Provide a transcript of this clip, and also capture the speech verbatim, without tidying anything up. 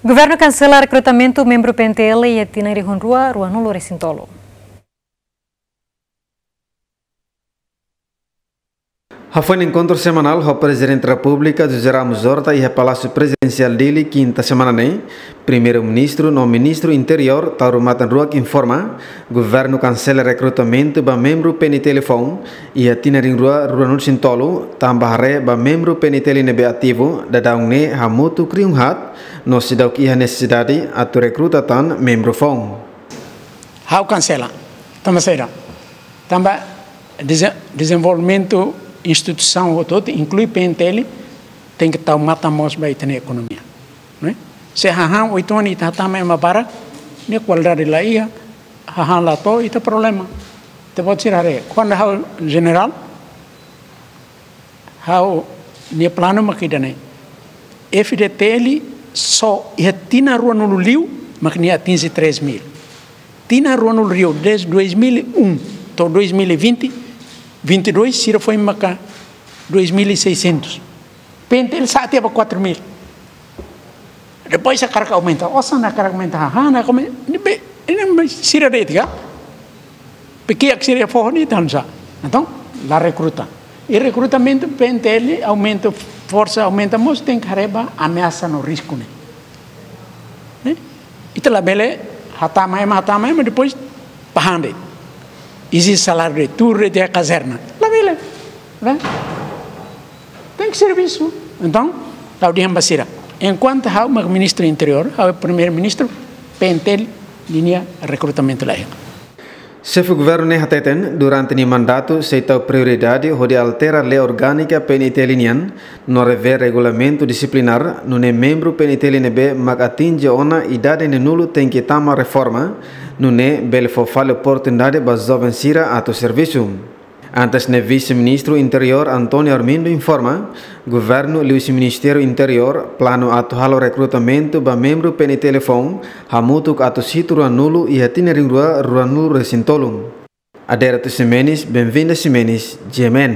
Governu kansela rekrutamentu membru P N T L iha tinan rihun rua ruanulu resin tolu. Hafoin enkontru semanál ho Prezidente Repúblika José Ramos Horta iha Palásiu Prezidensiál Dili, kinta semana ne'e, Primeiru-Ministru no Ministru Interiór Taur Matan Ruak informa, governu kansela rekrutamentu ba membru P N T L foun iha tinan rihun rua ruanulu resin tolu, tanba haree ba membru P N T L ne'ebé ativu daudaun ne'e hamutuk rihun haat, no seidauk iha nesesidade atu rekruta tan membru foun. Ha'u kansela. Tanba saida? Tanba deze-, dezenvolvimentu instituisaun hotu-hotu, inklui P N T L, tenke tau matan mós ba ita-nia ekonomia, ne'e? Se hahán oituan ita hatama ema barak, nia kualidade la iha, hahán la to'o, ita problema. Ita-boot sira haree, kuandu ha'u jenerál, ha'u-nia planu mak ida-ne'e. F D T L só iha tinan ruanulu liu mak nia atinje três mil. Tinan ruanulu liu, desde dois mil e um to'o dois mil e vinte, vinte e dois, sira foin maka dois mil e seiscentos. P N T L sa'e tiha ba quatro mil. Depois hakarak aumenta, osan hakarak aumenta, hahán hakarak aumenta, ne'ebé, ne'e sira de'it ka? Pekia ke sira foho ne'e tan sa. Entaun, la rekruta. I rekrutamentu P N T L, aumenta forsa, aumenta mós, tenke haree ba ameasa no risku ne'e. Eh? Ita labele hatama ema, hatama ema, depois pahande. Ezije saláriu de'it, tuur de'it iha kazerna. Labele. Ne'e? Tenke servisu. Entaun, ha'u dehan ba sira. Enkuantu ha'u mak Ministru Interiór, ha'u Primeiru-Ministru, P N T L ninia rekrutamentu la iha. Xefe Governu ne'e hateten, durante nia mandatu sei tau prioridade hodi altera lei orgánika P N T L nian, no revee regulamentu disiplinár, nune'e membru P N T L ne'ebé mak atinje ona idade neenulu tenke tama reforma, nune'e bele fó fali oportunidade ba joven sira atu servisu. Antes ne'e, Vise-Ministru Interiór António Armindo informa, governu liuhusi Ministériu Interiór planu atu halo rekrutamentu ba membru P N T L foun hamutuk atus hitu ruanulu iha tinan rihun rua ruanulu resin tolu. Adérito Ximenes, Benvinda Ximenes, G M N.